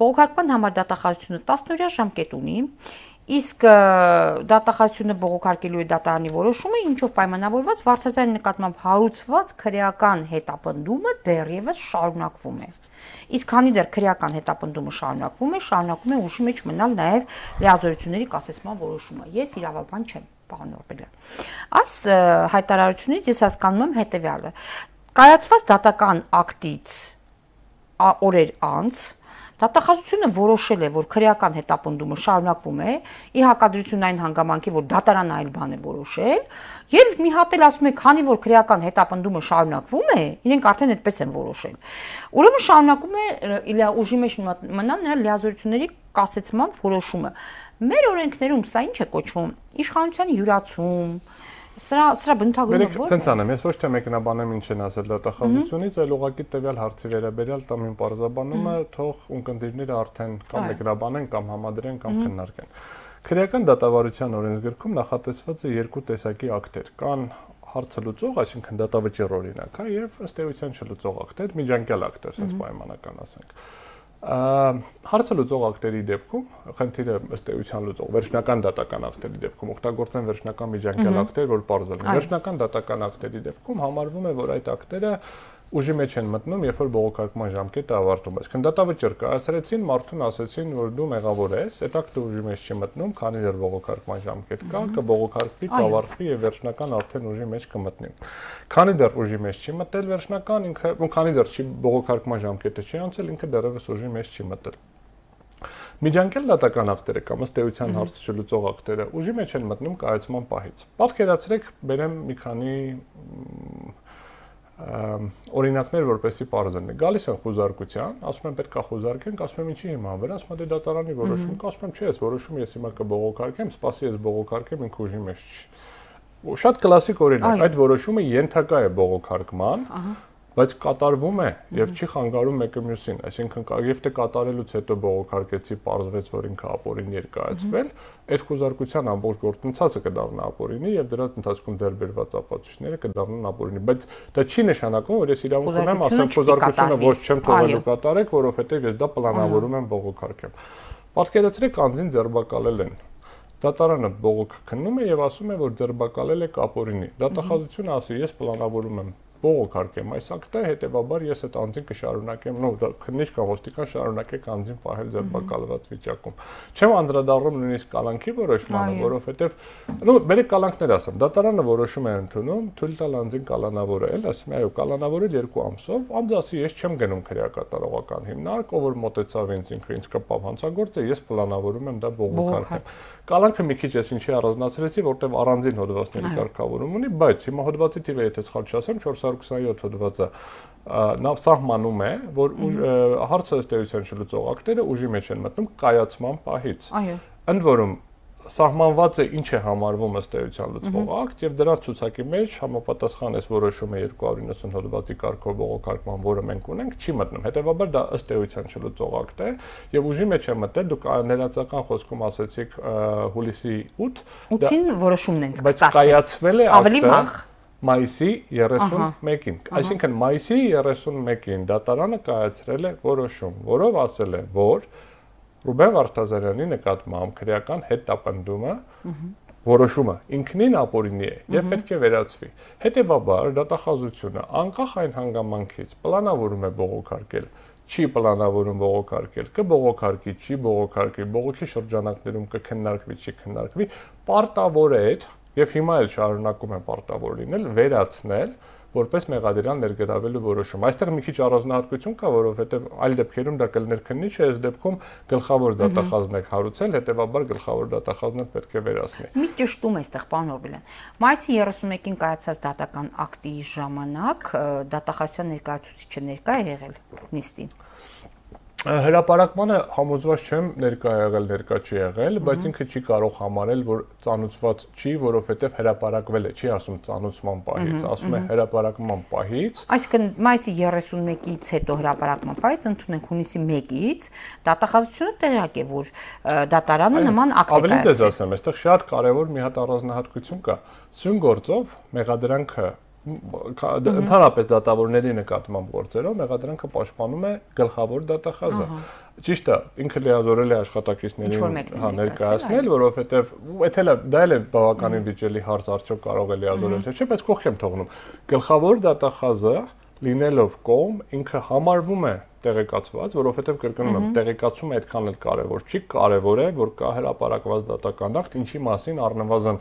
Բողոքարկման համար դատախազությունը 10-օրյա ժամկետ ունի։ Իսկ դատախազությունը բողոքարկելու է դատարանի որոշումը, ինչով պայմանավորված Վարդազյանի նկատմամբ հարուցված քրեական հետապնդումը դեռևս շարունակվում է։ Իսկ քանի դեռ քրեական հետապնդումը շարունակվում է ուժի մեջ մնալ նաև լիազորությունների կասեցման որոշումը։ Ես իրավաբան չեմ, պարոն Օրբելյան։ Այս հայտարարությունից ես հասկանում եմ հետևյալը. կայացված դատական ակտից օրեր անց դատախազությունը որոշել է, որ քրեական հետապնդումը շարունակվում է, ի հակադրություն այն հանգամանքի, որ դատարանը այլ բան է որոշել, եւ մի հատ էլ ասում է, քանի որ քրեական հետապնդումը շարունակվում է, իրենք արդեն այդպես են որոշել։ Ուրեմն շարունակում է ուժի մեջ մնալ նրա լիազորությունների կասեցման որոշումը։ Մեր օրենքներում սա ինչ է կոչվում, իշխանության յուրացում, Սրա բնութագրումը ո՞ր է։ Ցենց անեմ, ես ոչ թե մեկնաբանեմ ինչ են ասել դատախազությունից, այլ ուղղակի տվյալ հարցի վերաբերյալ տամ իմ պարզաբանումը, թող ունկնդիրները արդեն կամ մեկնաբանեն, կամ համադրեն, կամ քննարկեն։ Քրեական դատավարության օրենսգրքում նախատեսված է երկու տեսակի ակտեր։ Կան հարցը լուծող, այսինքն դատավճիռ օրինակ, եւ ըստ էության չլուծող ակտեր, միջանկյալ ակտեր, ասես պայմանական ասենք։ Հարցը լուծող ակտերի դեպքում խնդիրը ըստ էության լուծող վերջնական դատական ակտերի դեպքում օգտագործեն վերջնական միջանկյալ ակտեր, որ պարզել են։ Վերջնական դատական ակտերի դեպքում համարվում է, որ այդ ակտերը ուժի մեջ են մտնում, երբ որ բողոքարկման ժամկետը ավարտվում է։ Այսինքն դատավճիռ կայացրեցին, մարդուն ասեցին, որ դու մեղավոր ես, հետո դու ուժի մեջ չի մտնում, քանի դեռ բողոքարկման ժամկետ կա, կբողոքարկվի, կավարտվի եւ վերջնական արդեն ուժի մեջ կմտնի։ Քանի դեռ ուժի մեջ չի մտել վերջնական, ինքը, քանի դեռ չի բողոքարկման ժամկետը չի անցել, ինքը դեռևս ուժի մեջ չի մտել։ Միջանկյալ դատական ակտերը կամ ըստ էության հարցը չլուծող ակտերը ուժի մեջ են մտնում կայացման պահից։ Պատկերացրեք, բերեմ մի քանի օրինակներ, որպեսզի պարզ լինի։ Գալիս են խոզարկության, ասում են պետք է խոզարկենք, ասում եմ ինչի հիման վրա, ասում են դե դատարանի որոշում կա, ասում եմ չէ, այս որոշումը ես հիմա կբողոքարկեմ, սպասի ես բողոքարկեմ, ինքը ուժի մեջ չի։ Շատ կլասիկ օրինակ, այդ որոշումը ենթակա է բողոքարկման, բայց կատարվում է եւ չի խանգարում մեկը մյուսին, այսինքն եւ թե կատարելուց հետո բողոքարկեցի, պարզվեց, որ ինքը ապօրինի էր կայացվել, այդ խոզարկության ամբողջ գործընթացը կդառնա ապօրինի եւ դրա ընթացքում ձեռ բերված ապացույցները կդառնան ապօրինի, բայց դա չի նշանակում, որ ես իրավունք ունեմ ասեմ խոզարկությունը ոչ չեմ թողելու կատարեք, որովհետեւ ես դա պլանավորում եմ բողոքարկեմ։ Պատկերացրեք, անձին ձերբակալել են։ Դատարանը բողոք քննում է եւ ասում է, որ ձերբակալել եք ապօրինի։ Դատախազությունը ասի, ես պլանավորում եմ բողոքարկեմ այս ակտը, հետեւաբար ես այդ անձին կշարունակեմ, քննիչ կամ ոստիկան շարունակեք անձին պահել ձերբակալված վիճակում։ Չեմ անդրադառնում նույնիսկ կալանքի որոշմանը, որովհետեւ բերեք կալանքներ ասեմ, դատարանը որոշում է ընդունում, թույլ տալ անձին կալանավորել, ասում է, այո, կալանավորել 2 ամսով, անձը ասի, ես չեմ գնում քրեակատարողական հիմնարկ, ով որ մոտեցավ ինձ կպավ հանցագործը, ես պլանավորում եմ դա բողոքարկեմ։ Կալանքը մի քիչ էս ինչի առանձնացրեցի, որտեղ առանձին հոդվածների կարգավորում ունի, բայց հիմա հոդվածի թիվը եթե սխալ չասեմ 427 հոդվածը նա սահմանում է, որ հարցը ըստ էության չլուծող ակտերը ուժի մեջ են մտնում կայացման պահից։ Այո։ Ընդ որում սահմանված է ինչ է համարվում ըստ էության լուծվող ակտ եւ դրա ցուցակի մեջ համապատասխան էս որոշումը 290 հոդվածի կարգով բողոքարկման, որը մենք ունենք, չի մտնում։ Հետեւաբար դա ըստ էության չլուծող ակտ է եւ ուժի մեջ է մտել, դուք ներածական խոսքում ասացիք հուլիսի 8-ին որոշումն են բայց կայացվել է ակտը մայիսի 31-ին։ Այսինքն մայիսի 31-ին դատարանը կայացրել է որոշում, որով ասել է, որ Ռուբեն Վարդազարյանի նկատմամբ քրեական հետապնդումը որոշումը ինքնին ապօրինի է եւ պետք է վերացվի։ Հետեւաբար դատախազությունը անկախ այն հանգամանքից պլանավորում է բողոքարկել, չի պլանավորում բողոքարկել, կբողոքարկի, չի բողոքարկի, բողոքի շրջանակներում կքննարկվի, չի քննարկվի, պարտավոր է եւ հիմա էլ շարունակում է պարտավոր լինել վերացնել որպես մեղադիրան ներգրավելու որոշում։ Այստեղ մի քիչ առանձնահատկություն կա, որովհետև այլ դեպքերում դա կլիներ քննիչ, այս դեպքում գլխավոր դատախազն եք հարուցել, հետեւաբար գլխավոր դատախազն պետք է վերացնի։ Մի ճշտում է այստեղ, պարոն Օրբելյան։ Մայիսի 31-ին կայացած դատական ակտի ժամանակ դատախազության ներկայացուցիչը ներկա է եղել նիստին։ Հրապարակմանը համոզված չեմ ներկա եղել, ներկա չի եղել, բայց ինքը չի կարող համարել, որ ծանուցված չի, որովհետև հրապարակվել է, չի ասում ծանուցման պահից, ասում է հրապարակման պահից։ Այսինքն մայիսի 31-ից հետո հրապարակման պահից ընդունենք հունիսի 1-ից, դատախազությունը տեղյակ է, որ դատարանը նման ակտ է կայացրել։ Ավելի ձեզ ասեմ, այստեղ շատ կարևոր մի հատ առանձնահատկություն կա։ Սյուն գործով մեղադրանքը ընդհանրապես դատավորների նկատմամբ գործերով մեղադրանքը պաշտպանում է գլխավոր դատախազը։ Ճիշտ է, ինքը լիազորել է աշխատակիցներին ներկայացնել, որովհետև դա էլ է բավականին վիճելի հարց, արդյոք կարող է լիազորել թե չէ, բայց կողք եմ թողնում։ Գլխավոր դատախազը լինելով կողմ, ինքը համարվում է տեղեկացված, որովհետև կրկնում եմ, տեղեկացումը այդքան էլ կարևոր չի, կարևոր է, որ կա հրապարակված դատական ակտ, ինչի մասին առնվազն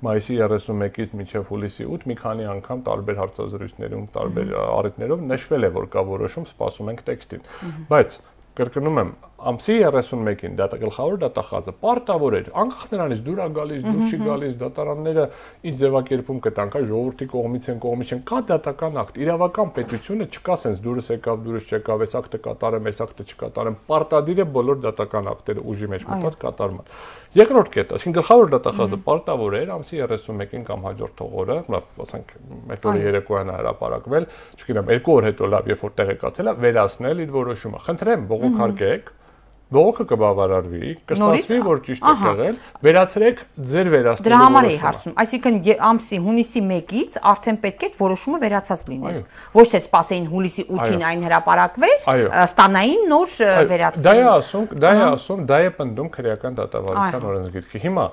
մայիսի 31-ից մինչև հուլիսի 8 մի քանի անգամ տարբեր հարցազրույցներում, տարբեր առիթներով նշվել է, որ կա որոշում, սպասում ենք տեքստին։ Բայց կրկնում եմ, ամսի 31-ին գլխավոր դատախազը պարտավոր էր, անկախ նրանից դուր է գալիս, դուր չի գալիս, դատարանները ինչ ձևակերպում կտանք, ժողովրդի կողմից են, կա դատական ակտ, իրավական պետությունը չկա սենց դուրս եկավ, դուրս չեկավ, այս ակտը կատարեմ, այս ակտը չկատարեմ, պարտադիր է բոլոր դատական ակտերը ուժի մեջ մտած կատարման։ Երկրորդ կետը, այսինքն գլխավոր դատախազը պարտավոր էր ամսի 31-ին կամ հաջորդ օրը, ասենք այդ օրը երեկոյան հրապարակվել, չգիտեմ, 2 օր հետո լավ, երբ որ տեղեկացել է, վերացնել իր որոշումը։ Խնդրեմ, բողոքարկեք, բողոքը կբավարարվի, կստացվի, որ ճիշտ է եղել, վերացրեք ձեր վերացնելու որոշումը։ Դրա համար էի հարցնում, այսինքն ամսի հունիսի 1-ից արդեն պետք է որոշումը վերացած լիներ։ Ոչ թե սպասեին հուլիսի 8-ին այն հրապարակվեր, ստանային նոր վերացում։ Դա է ասում, դա է պնդում քրեական դատավարության օրենսգիրքը։ Հիմա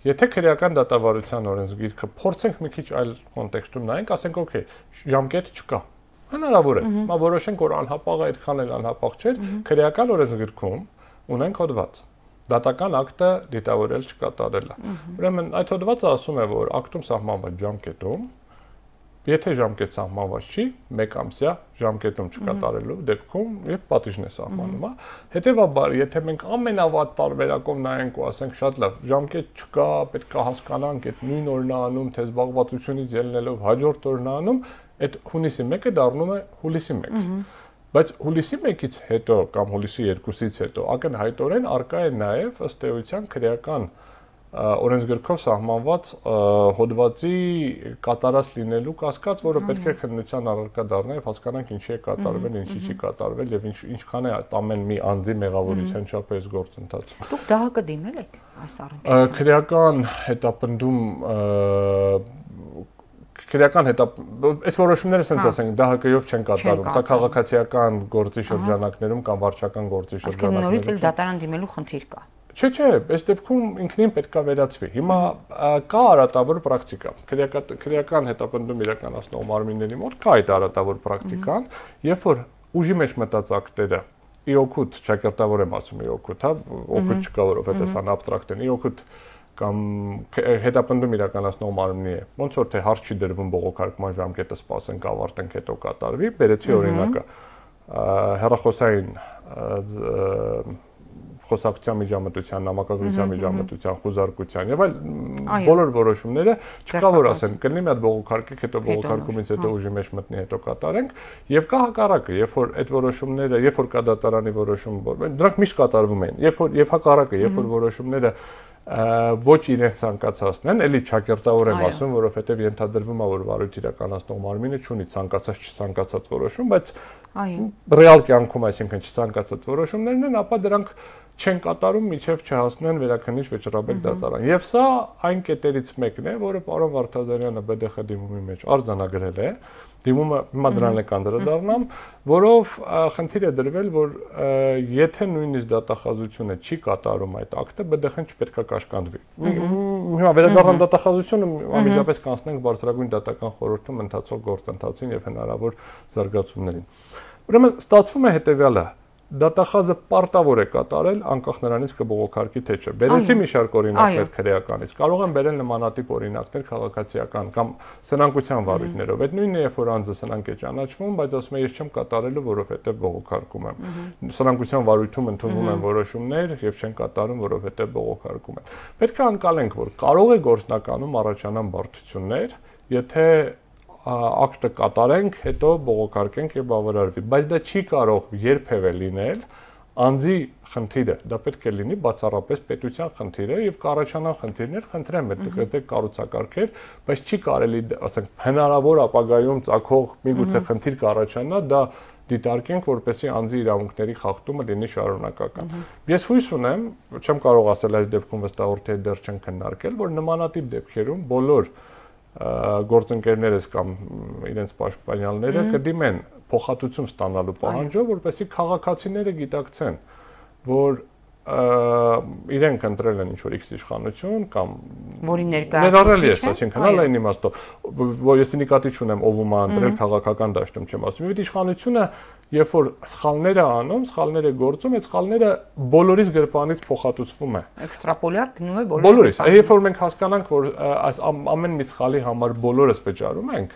եթե քրեական դատավարության օրենսգիրքը փորձենք մի քիչ այլ կոնտեքստում նայենք, ասենք, օքեյ, ժամկետ չկա։ Հնարավոր է։ Մա որոշենք, որ անհապաղ է, այդքան էլ անհապաղ չէ, քրեական օրենսգրքում ունենք հոդված։ Դատական ակտը դիտավորել չկատարելը։ Ուրեմն այդ հոդվածը ասում է, որ ակտում սահմանված ժամկետում, եթե ժամկետ սահմանված չի, 1 ամսյա ժամկետում չկատարելու դեպքում եւ պատիժն է սահմանում, հա։ Հետեւաբար, եթե մենք ամենավատ տարբերակով նայենք ու ասենք շատ լավ, ժամկետ չկա, պետք է հասկանանք այդ նույն օրն է անում, թե զբաղվածությունից ելնելով հաջորդ օրն է անում, այդ հունիսի 1-ը դառնում է հուլիսի 1։ Բայց հուլիսի 1-ից հետո կամ հուլիսի 2-ից հետո ակնհայտորեն արկա է նաև ըստ էության քրեական օրենսգրքով սահմանված հոդվածի կատարած լինելու կասկած, որը պետք է քննության առարկա դառնա եւ հասկանանք ինչի է կատարվել, ինչի չի կատարվել եւ ինչքան է ամեն մի անձի մեղավորության չափը այս գործընթացում։ Դուք դա կդիմել եք այս առնչությամբ։ Քրեական հետապնդում քրեական այս որոշումները ասենք ասենք ԴՀԿ-ով չեն կատարում, սա քաղաքացիական գործի շրջանակներում կամ վարչական գործի շրջանակներում։ Նորից էլ դատարան դիմելու խնդիր կա։ Չէ, այս դեպքում ինքնին պետքա վերացվի։ Հիմա կա արատավոր պրակտիկա։ Քրեական հետապնդում իրականացնող մարմինների մոտ կա այդ արատավոր պրակտիկան, երբ որ ուժի մեջ մտած ակտերը իօքուտ, ճակերտավոր եմ ասում իօքուտ, հա, օքուտ չկա, որովհետև սա աբստրակտ է, իօքուտ կամ հետապնդում իրականացնող մարմնի է։ Ոնց որ թե հարց չի դրվում բողոքարկման ժամկետը սպասենք, ավարտենք, հետո կատարվի, բերեցի օրինակը հեռախոսային խոսակցության միջամտության, նամակագրության միջամտության, խուզարկության եւ այլ բոլոր որոշումները չկա որ ասեն, կլինի մի հատ բողոքարկեք, հետո բողոքարկումից հետո ուժի մեջ մտնի, հետո կատարենք եւ կա հակառակը, երբ որ այդ որոշումները, երբ որ կա դատարանի որոշում, դրանք միշտ կատարվում են, երբ հակառակը, երբ որ որոշումները ոչ իրենց ցանկացածն են, էլի ճակերտավոր եմ ասում, որովհետեւ ենթադրվում է, որ վարույթ իրականացնող մարմինը չունի ցանկացած չցանկացած որոշում, բայց ռեալ կյանքում, այսինքն չցանկացած որոշումներն են, ապա դրանք չեն կատարում միջև չհասնեն վերաքննիչ վճռաբեկ դատարան։ Եվ սա այն կետերից մեկն է, որը պարոն Վարդազարյանը ԲԴԽ դիմումի մեջ արձանագրել է։ Դիմումը հիմա դրան է կանդրադառնամ, որով խնդիր է դրվել, որ եթե նույնիսկ դատախազությունը չի կատարում այդ ակտը, ԲԴԽ-ն չպետք է կաշկանդվի։ Հիմա վերադառնամ դատախազությունը, անմիջապես կանցնենք բարձրագույն դատական խորհրդում ընթացող գործընթացին եւ հնարավոր զարգացումներին։ Ուրեմն ստացվում է հետեւյալը. դատախազը պարտավոր է կատարել անկախ նրանից կբողոքարկի թե չէ։ Բերեցի մի շարք օրինակներ քրեականից։ Կարող են բերել նմանատիպ օրինակներ քաղաքացիական կամ սնանկության վարույթներով։ Այդ նույնն է, երբ որ անձը սնանկ է ճանաչվում, բայց ասում է ես չեմ կատարելու, որովհետև բողոքարկում եմ։ Սնանկության վարույթում ընդունվում են որոշումներ եւ չեն կատարում, որովհետև բողոքարկում են։ Պետք է անցալենք, որ կարող է գործնականում առաջանան բարդություններ, եթե ակտը կատարենք, հետո բողոքարկենք եւ բավարարվի, բայց դա չի կարող երբևէ լինել անձի խնդիրը, դա պետք է լինի բացառապես պետության խնդիրը եւ կառաջանան խնդիրներ, խնդրեմ այդ կառուցակարգեր, բայց չի կարելի, ասենք, հնարավոր ապագայում ցակող միգուցե խնդիր կառաջանա, դա դիտարկենք, որպեսզի անձի իրավունքների խախտումը լինի շարունակական։ Ես հույս ունեմ, չեմ կարող ասել այս դեպքում վստահորթի դեռ չեն քննարկել, որ նմանատիպ դեպքերում բոլոր գործընկերներս կամ իրենց պաշտպանյալները կդիմեն փոխհատուցում ստանալու պահանջով, որպեսզի քաղաքացիները գիտակցեն, որ իրենք ընտրել են ինչ-որ X իշխանություն կամ որի ներառել ես, այսինքն հալային իմաստով, որ ես նկատի չունեմ ով ում է ընտրել քաղաքական դաշտում չեմ ասում։ Այդ իշխանությունը, երբ որ սխալներ է անում, սխալներ է գործում, այդ սխալները բոլորիս գրպանից փոխհատուցվում է։ Էքստրապոլյար գնում է բոլորիս։ Երբ որ մենք հասկանանք, որ այս ամեն մի սխալի համար բոլորս վճարում ենք,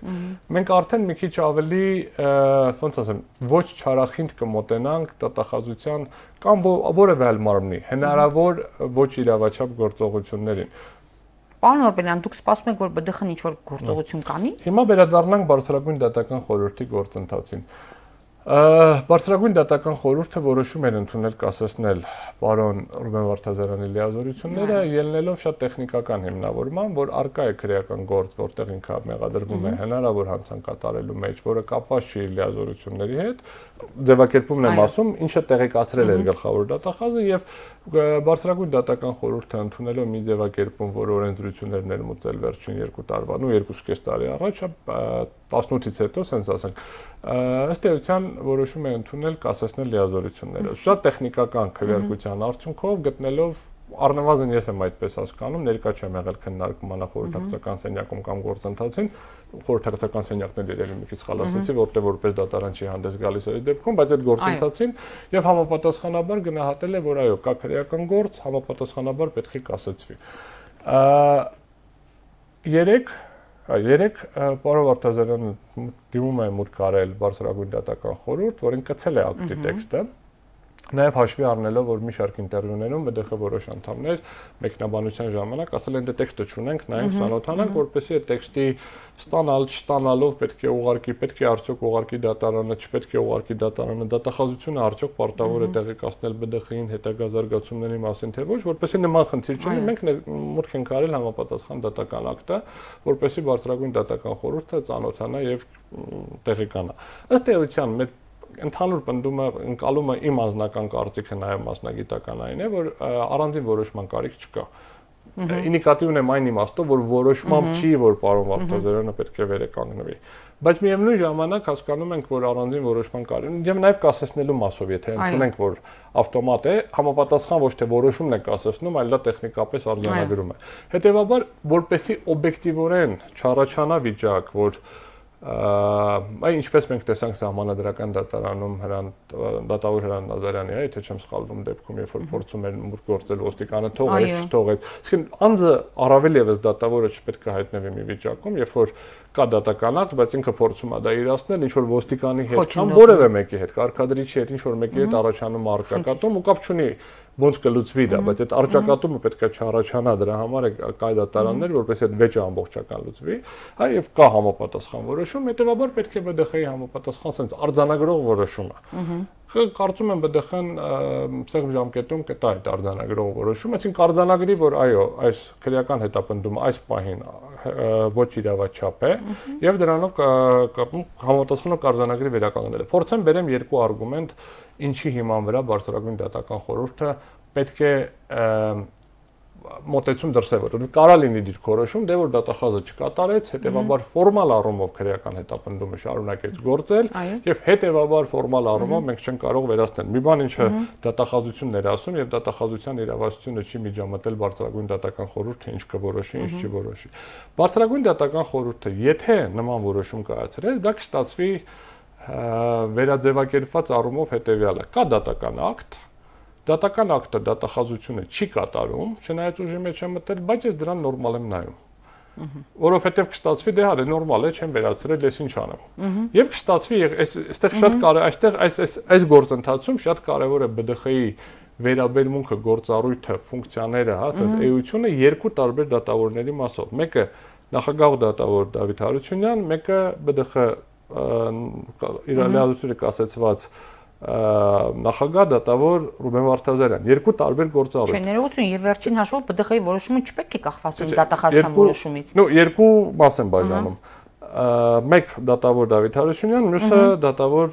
մենք արդեն մի քիչ ավելի, ոնց ասեմ, ոչ չարախինդ կմոտենանք դատախազության կամ որևէ այլ մարմնի հնարավոր ոչ իրավաչափ գործողություններին։ Պարոն Օրբելյան, դուք սպասում եք, որ ԲԴԽ-ն ինչ-որ գործողություն կանի։ Հիմա վերադառնանք բարձրագույն դատական խորհրդի գործընթացին։ Բարձրագույն դատական խորհուրդը որոշում էր ընդունել կասեցնել պարոն Ռուբեն Վարդազարյանի լիազորությունները, ելնելով շատ տեխնիկական հիմնավորման, որ արկա է քրեական գործ, որտեղ ինքը մեղադրվում է հնարավոր հանցանք կատարելու մեջ, որը կապված չի իր լիազորությունների հետ, ձևակերպումն եմ ասում, ինչը տեղեկացրել էր գլխավոր դատախազը եւ բարձրագույն դատական խորհուրդը ընդունելով մի ձևակերպում, որ օրենսդրություններ ներմուծել վերջին 2 տարվա, 2.5 տարի առաջ, 18-ից հետո, ասենք ասենք, ըստ էության որոշում է ընդունել կասեցնել լիազորությունները։ Շատ տեխնիկական քվեարկության արդյունքով գտնելով առնվազն ես եմ այդպես հասկանում, ներկա չեմ եղել քննարկման խորհրդակցական սենյակում կամ գործընթացին, խորհրդակցական սենյակն էլ երևի մի քիչ խալ ասեցի, որտեղ որպես դատարան չի հանդես գալիս այդ դեպքում, բայց այդ գործընթացին եւ համապատասխանաբար գնահատել է, որ այո, կա քրեական գործ, համապատասխանաբար պետք է կասեցվի։ Երեք պարոն Վարդազարյանը դիմում է մուտք արել բարձրագույն դատական խորհուրդ, որին կցել է ակտի տեքստը, նաև հաշվի առնելով, որ մի շարք ինտերվյուներում ԲԴԽ որոշ անդամներ մեկնաբանության ժամանակ ասել են դե տեքստը չունենք, նայենք ծանոթանանք, որպեսզի այդ տեքստի ստանալ, չստանալով պետք է արդյոք ուղարկի դատարանը, չպետք է ուղարկի դատարանը, դատախազությունը արդյոք պարտավոր է տեղեկացնել ԲԴԽ-ին հետագա զարգացումների մասին, թե ոչ, որպեսզի նման խնդիր չլինի, մենք մուտք ենք արել համապատասխան դատական ակտը, որպեսզի բարձրագույն դատական խորհուրդը ծանոթանա եւ տեղեկանա։ Ըստ էության մեր ընդհանուր պնդումը ընկալումը իմ անձնական կարծիքը նաև մասնագիտական այն է, որ առանձին որոշման կարիք չկա։ Ինդիկատիվն եմ այն իմաստով, որ որոշմամբ չի, որ պարոն Վարդազարյանը պետք է վերականգնվի։ Բայց միևնույն ժամանակ հասկանում ենք, որ առանձին որոշման կարիք եւ նաև կասեցնելու մասով, եթե ընդունենք, որ ավտոմատ է, համապատասխան ոչ թե որոշումն է կասեցնում, այլ դա տեխնիկապես արձանագրում է։ Հետևաբար, որպեսզի օբյեկտիվորեն չառաջանա վիճակ, որ Այն ինչպես մենք տեսանք սահմանադրական դատարանում դատավոր Հրանտ Նազարյանի, եթե չեմ սխալվում դեպքում, երբ որ փորձում էր մուտք գործել ոստիկանը թողեց, չթողեց։ Իսկ անձը առավել եւս դատավորը չպետք է հայտնվի մի վիճակում, երբ որ կա դատական ակտ, բայց ինքը փորձում է դա իրացնել, ինչ որ ոստիկանի հետ կամ որևէ մեկի հետ, կարգադրիչի հետ, ինչ որ մեկի հետ առաջանում առճակատում ու կապ չունի ոնց կլուծվի դա, բայց այդ առճակատումը պետք է չառաջանա, դրա համար է կա դատարաններ, որպես այդ վեճը ամբողջական լուծվի, հա եւ կա համապատասխան որոշում, հետեւաբար պետք է ԲԴԽ-ի համապատասխան sense արձանագրող որոշումը։ Կարծում եմ ԲԴԽ-ն սեղմ ժամկետում կտա այդ արձանագրող որոշումը, այսինքն արձանագրի, որ այո, այս քրեական հետապնդումը այս պահին ոչ իրավաչափ է եւ դրանով համապատասխանող արձանագրի վերականգնելը։ Փորձեմ բերեմ երկու արգումենտ, ինչի հիման վրա բարձրագույն դատական խորհուրդը պետք է մոտեցում դրսևորել։ Կարա լինի դիրքորոշում, դե որ դատախազը չկատարեց, հետեւաբար ֆորմալ առումով քրեական հետապնդումը շարունակեց գործել եւ հետեւաբար ֆորմալ առումով մենք չենք կարող վերացնել։ Մի բան ինչը դատախազությունն էր ասում եւ դատախազության իրավասությունը չի միջամտել բարձրագույն դատական խորհուրդը ինչ կորոշի, ինչ չի որոշի։ Բարձրագույն դատական խորհուրդը եթե նման որոշում կայացրեց, դա կստացվի վերաձևակերպված առումով հետեւյալը. կա դատական ակտ, դատական ակտը դատախազությունը չի կատարում, չնայած ուժի մեջ է մտել, բայց ես դրան նորմալ եմ նայում։ Որովհետև կստացվի դե հա դե նորմալ է, չեմ վերացրել, ես ինչ անեմ։ Եվ կստացվի, այստեղ շատ կարևոր, այստեղ այս գործընթացում շատ կարևոր է ԲԴԽ-ի վերաբերմունքը, գործառույթը, ֆունկցիաները, հա, ասած էությունը երկու տարբեր դատավորների մասով։ Մեկը նախագահ դատավոր Դավիթ Հարությունյան, մեկը ԲԴԽ իր լիազորությունները կասեցված նախագահ դատավոր Ռուբեն Վարդազարյան, երկու տարբեր գործառույթ։ Չէ, ներողություն, եւ վերջին հաշվով ԲԴԽ-ի որոշումը չպետք է կախված լինի դատախազության որոշումից։ Նո, երկու մաս են բաժանում։ Մեկ դատավոր Դավիթ Հարությունյան, մյուսը դատավոր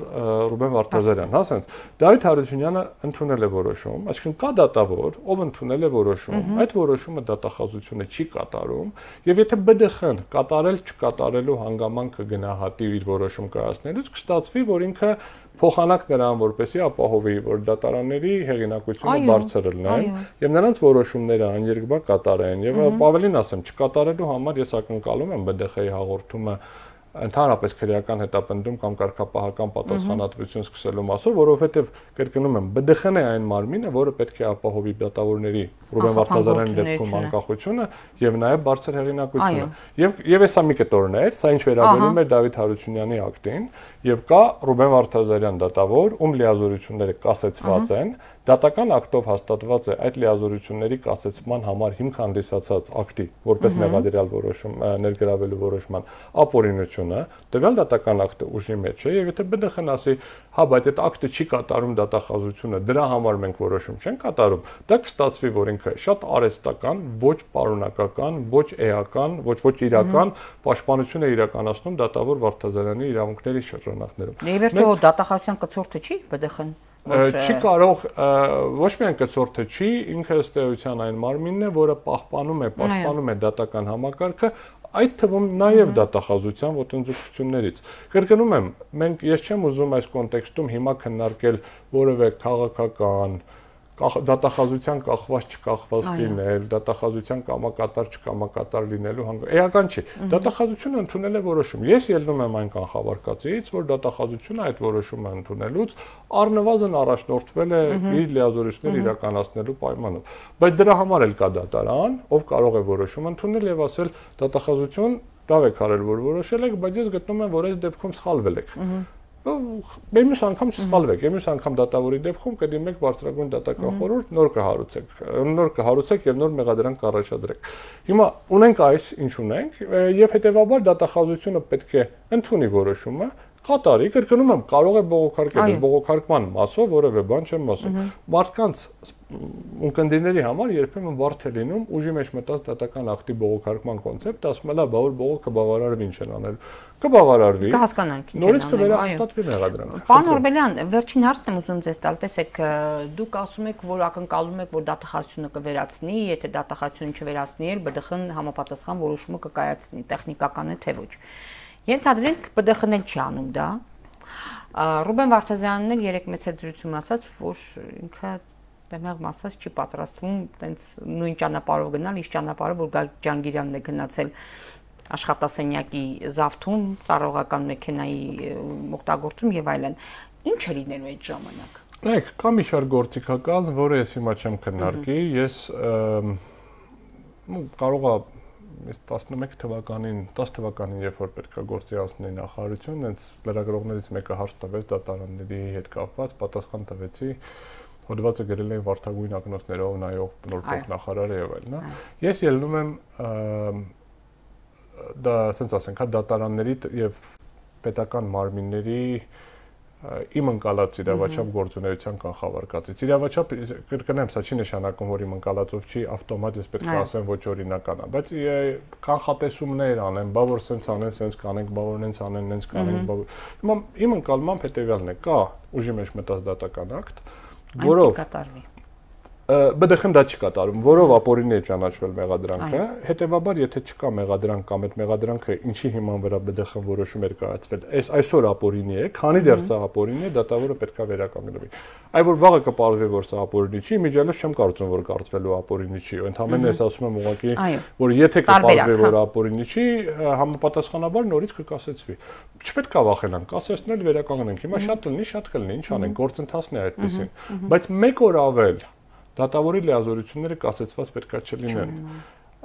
Ռուբեն Վարդազարյան, հա, ասենց Դավիթ Հարությունյանը ընդունել է որոշում, այսինքն կա դատավոր, ով ընդունել է որոշում, այդ որոշումը դատախազությունը չի կատարում, եւ եթե ԲԴԽ-ն կատարել չկատարելու հանգամանքը գնահատի իր որոշում կայացնելուց, կստացվի, որ ինքը փոխանակ նրան, որպեսզի ապահովի, որ դատարանների հեղինակությունը բարձր լինի եւ նրանց որոշումները աներկբա կատարեն եւ ավելին ասեմ, չկատարելու համար ես ակնկալում եմ ԲԴԽ-ի հաղորդումը ընդհանրապես քրեական հետապնդում կամ կարգապահական պատասխանատվություն սկսելու մասով, որովհետև կրկնում եմ, ԲԴԽ-ն է այն մարմինը, որը պետք է ապահովի դատավորների Ռուբեն Վարդազարյանի դեպքում անկախությունը եւ նաեւ բարձր հեղինակությունը։ Եվ հեսա մի կտորն է, սա ինչ վերաբերում է Դավիթ Հարությունյանի ակտին, եւ կա Ռուբեն Վարդազարյան դատավոր, ում լիազորությունները կասեցված են, դատական ակտով հաստատված է այդ լիազորությունների կասեցման համար հիմք հանդիսացած ակտի, որպես մեղադրյալ որոշում ներգրավելու որոշման ապօրինությունը, տվյալ դատական ակտը ուժի մեջ է եւ եթե ԲԴԽ-ն ասի, հա, բայց այդ ակտը չի կատարում դատախազությունը, դրա համար մենք որոշում չենք կատարում, դա կստացվի, որ ինքը շատ արհեստական, ոչ պարունակական, ոչ էական, ոչ իրական պաշտպանություն է իրականացնում դատավոր Վարդազարյանի իրավունքների շրջանակներում։ Եվ վերջո դատախազության կցորդը չի ԲԴԽ-ն չի կարող ոչ միայն կցորդը չի, ինքը ըստ էության այն մարմինն է, որը պաշտպանում է դատական համակարգը, այդ թվում նաև դատախազության ոտնձգություններից։ Կրկնում եմ, ես չեմ ուզում այս կոնտեքստում հիմա քննարկել որևէ քաղաքական դատախազության կախված չկախված լինել, դատախազության կամակատար չկամակատար լինելու էական չի։ Դատախազությունը ընդունել է որոշում։ Ես ելնում եմ այն կանխավարկածից, որ դատախազությունը այդ որոշումը ընդունելուց առնվազն առաջնորդվել է իր լիազորությունները իրականացնելու պայմանով։ Բայց դրա համար էլ կա դատարան, ով կարող է որոշում ընդունել եւ ասել դատախազություն լավ եք արել, որ որոշել եք, բայց ես գտնում եմ, որ այս դեպքում սխալվել եք։ Մյուս անգամ չսխալվեք, մյուս անգամ դատավորի դեպքում կդիմեք բարձրագույն դատական խորհուրդ, նոր կհարուցեք եւ նոր մեղադրանք կառաջադրեք։ Հիմա ունենք այս, ինչ ունենք, եւ հետեւաբար դատախազությունը պետք է ընդունի որոշումը, կատարի, կրկնում եմ, կարող է բողոքարկել, բողոքարկման մասով որևէ բան չեմ ասում։ Մարդկանց ունկնդիրների համար երբեմն բարդ է լինում ուժի մեջ մտած դատական ակտի բողոքարկման կոնցեպտը, ասում են, բա որ բողոքը բավարարվի ինչ են անել։ Կբավարարվի։ Կհասկանանք ինչ են նորից կվերահաստատվի մեղադրանքը։ Պարոն Օրբելյան, վերջին հարցն եմ ուզում ձեզ տալ, տեսեք, դուք ասում եք, որ ակնկալում եք, որ դատախազությունը կվերացնի, եթե դատախազությունը չվերացնի, ԲԴԽ-ն համապատասխան որոշումը կկայացնի, տեխնիկական է թե ոչ։ Ենթադրենք ԲԴԽ-ն էլ չի անում դա։ Ռուբեն Վարդազյանն էլ երեք մեծ զրույցում ասաց, որ ինքը բեմեղմ ասած չի պատրաստվում տենց նույն ճանապարհով գնալ, իշ ճանապարհը, որ Ջանգիրյանն է գնացել աշխատասենյակի զավթում, ծառայողական մեքենայի օգտագործում եւ այլն։ Ինչ է լինելու այդ ժամանակ։ Նայեք, կա մի շարք գործիքական, որը ես հիմա չեմ քննարկի, ես կարող եմ 11 թվականին, 10 թվականին, երբ որ պետք է գործի անցնի նախարարություն, հենց լրագրողներից մեկը հարց տվեց դատարանների հետ կապված, պատասխան տվեցի, հոդվածը գրել էին վարդագույն ակնոցներով նայող նոր փոխնախարարը եւ այլն, հա։ Ես ելնում եմ դա, ասենք ասենք, հա դատարանների եւ պետական մարմինների իմ ընկալած իրավաչափ գործունեության կանխավարկածից։ Իրավաչափ կրկնեմ, սա չի նշանակում, որ իմ ընկալածով չի ավտոմատ ես պետք է ասեմ ոչ օրինական է, բայց կանխատեսումներ անեմ, բա որ սենց անեն, սենց կանենք, բա որ նենց անեն, նենց կանենք, բա որ։ Հիմա իմ ընկալմամբ հետեւյալն է, կա ուժի մեջ մտած դատական ակտ, որով կատարվի։ ԲԴԽ-ն դա չի կատարում, որով ապօրինի է ճանաչվել մեղադրանքը, հետեւաբար եթե չկա մեղադրանք կամ այդ մեղադրանքը ինչի հիման վրա ԲԴԽ-ն որոշում էր կայացվել, այսօր ապօրինի է, քանի դեռ սա ապօրինի է, դատավորը պետք է վերականգնվի։ Այ որ վաղը կպարզվի, որ սա ապօրինի չի, միջալոց չեմ կարծում, որ կարծվելու ապօրինի չի, ընդհանրապես ես ասում եմ ուղղակի, որ եթե կպարզվի, որ ապօրինի չի, համապատասխանաբար նորից կկասեցվի։ Չպետք է վախենանք, կասեցնել վերականգնենք։ Հիմա շատ կլինի, ինչ անենք, գործընթացն է այդպեսին, բայց մեկ օր ավել դատավորի լիազորությունները կասեցված պետքա չլինեն։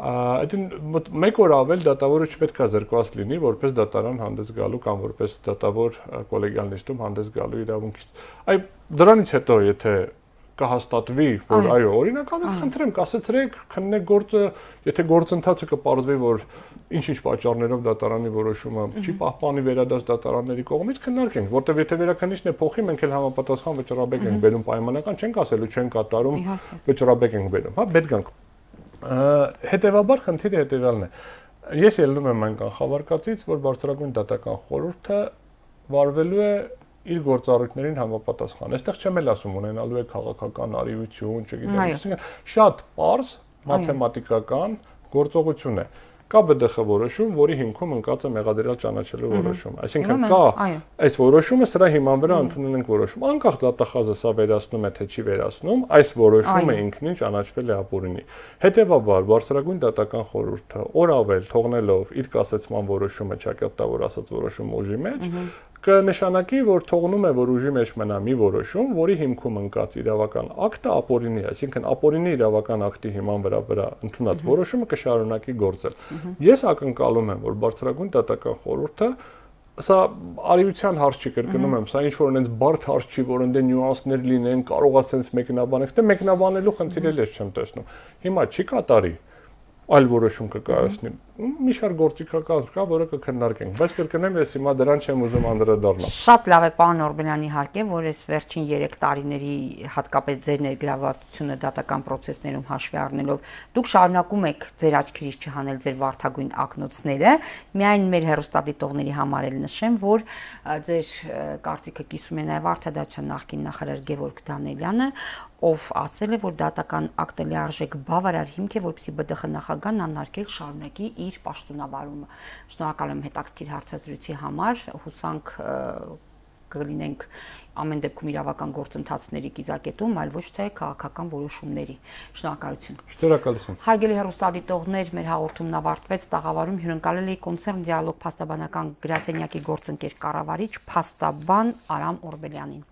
Այդին մեկ օր ավել դատավորը չպետքա զրկված լինի որպես դատարան հանդես գալու կամ որպես դատավոր կոլեգիալ նիստում հանդես գալու իրավունքից։ Այ դրանից հետո եթե կհաստատվի, որ այո, օրինականից խնդրեմ, կասեցրեք, քննեք գործը, եթե գործընթացը կպարզվի, որ ինչ-ինչ պատճառներով դատարանի որոշումը չի պահպանի վերադաս դատարանների կողմից, քննարկենք, որտեղ եթե վերաքննիչն է փոխի, մենք էլ համապատասխան վճռաբեկ ենք բերում պայմանական, չենք ասելու, չեն կատարում, վճռաբեկ ենք բերում, հա, պետք ենք։ Հետևաբար խնդիրը հետևյալն է։ Ես ելնում եմ այն կանխավարկածից, որ բարձրագույն դատական խորհուրդը վարվելու է իր գործառույթներին համապատասխան։ Այստեղ չեմ էլ ասում ունենալու է քաղաքական արիություն, չգիտեմ, շատ պարզ մաթեմատիկական գործողություն է։ Կա ԲԴԽ որոշում, որի հիմքում ընկած է մեղադրյալ ճանաչելու որոշումը։ Այսինքն կա այս որոշումը, սրա հիման վրա ընդունել ենք որոշում։ Անկախ դատախազը սա վերացնում է թե չի վերացնում, այս որոշումը ինքնին ճանաչվել է ապօրինի։ Հետևաբար բարձրագույն դատական խորհուրդը օր ավել թողնելով իր կասեցման որոշումը ճակատավոր ասած որոշումը ուժի մեջ, կնշանակի, որ թողնում է, որ ուժի մեջ մնա մի որոշում, որի հիմքում ընկած իրավական ակտը ապօրինի է, այսինքն ապօրինի իրավական ակտի հիման վրա ընդունած որոշումը կշարունակի գործել։ Ես ակնկալում եմ, որ բարձրագույն դատական խորհուրդը սա արիության հարց չի, կրկնում եմ, սա ինչ որ այնպես բարդ հարց չի, որ այնտեղ նյուանսներ լինեն, կարող է sense մեկնաբանեք, թե մեկնաբանելու խնդիր էլ ես չեմ տեսնում։ Հիմա չի կատարի, այլ որոշում կկայացնի։ Մի շարք գործիքական կա, որը կքննարկենք, բայց կրկնեմ, ես հիմա դրան չեմ ուզում անդրադառնալ։ Շատ լավ է, պարոն Օրբելյան, իհարկե, որ այս վերջին 3 տարիների հատկապես ձեր ներգրավվածությունը դատական process-ներում հաշվի առնելով, դուք շարունակում եք ձեր աչքերից չհանել ձեր վարդագույն ակնոցները, միայն մեր հեռուստադիտողների համար էլ նշեմ, որ ձեր կարծիքը կիսում է նաև Արտադատության նախկին նախարար Գևորգ Դանիելյանը, ով ասել է, որ դատական ակտը լիարժեք բավարար հիմք է, որպեսզի ԲԴԽ նախագահն անհարկել շարունակի իր պաշտոնավարումը։ Շնորհակալ եմ հետաքրքիր հարցազրույցի համար, հուսանք կլինենք ամեն դեպքում իրավական գործընթացների կիզակետում, այլ ոչ թե քաղաքական որոշումների։ Շնորհակալություն։ Շնորհակալություն։ Հարգելի հեռուստադիտողներ, մեր հաղորդումն ավարտվեց, տաղավարում հյուրընկալել էի Կոնցեռն Դիալոգ փաստաբանական գրասենյակի գործընկեր կառավարիչ փաստաբան Արամ Օրբելյանին։